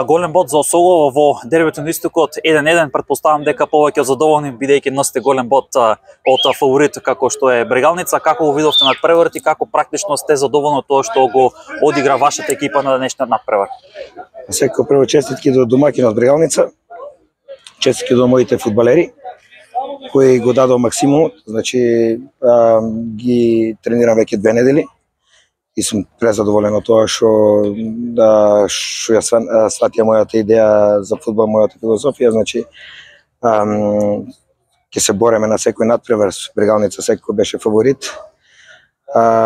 Голем бод за Осогово во дербито на Истокот 1-1, претпоставам дека повеќе задоволни бидејќи носите голем бод од фаворит како што е Брегалница. Како го видовте надпреварот и како практично сте задоволни од тоа што го одигра вашата екипа на денешниот надпревар? Секако прво честитки до домаќинот Брегалница, честитки до моите фудбалери кои го дадоа максимумот, значи ги тренирам веќе 2 недели и сум презадоволен од тоа што ја сватија мојата идеја за фудбал, мојата филозофија, значи ќе се бореме на секој надпревар. Брегалница секој беше фаворит,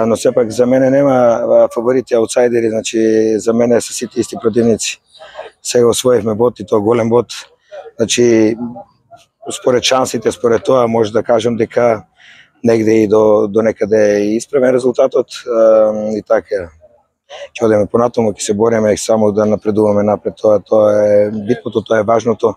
но сепак за мене нема фаворити, аутсайдери, значи за мене се сите исти противници. Сега освоивме бод и тоа голем бод, значи според шансите, според тоа може да кажам дека негде и до некаде исправен резултатот и така. Ќе одеме понатаму, ќе се бориме само да напредуваме напред, тоа е битното, тоа е важното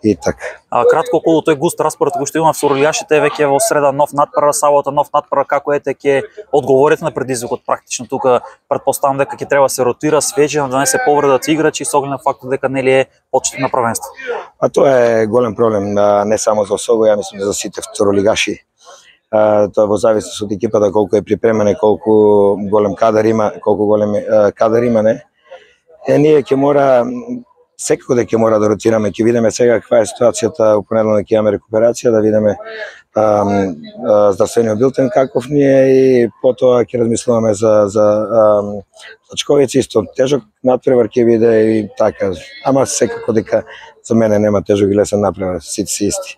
и така. Кратко околу тој густ распоред кој што има фурулијашите веќе во среда нов надпревар, сабота нов надпревар, како ќе одговорите на предизвикот практично тука? Претпоставам дека ќе треба се ротира свежи, да не се повредат играчи со оглед на фактот дека нели е почеток на првенство. Тоа е голем проблем не само за Осогово, ја мислам за сите второлигаши. Тоа во зависност од екипата колку е припремена, колку голем кадар има, не. Ние ќе мора секако дека мора да ротираме, ќе видиме сега каква е ситуацијата, у понеделник ќе имаме рекуперација, да видиме здравствениот билтен каков ни е и потоа ќе размислуваме за Чковица, исто тежок надпревар ќе биде и така. Ама секако дека за мене нема тежок и лесен надпревар, сите си исти.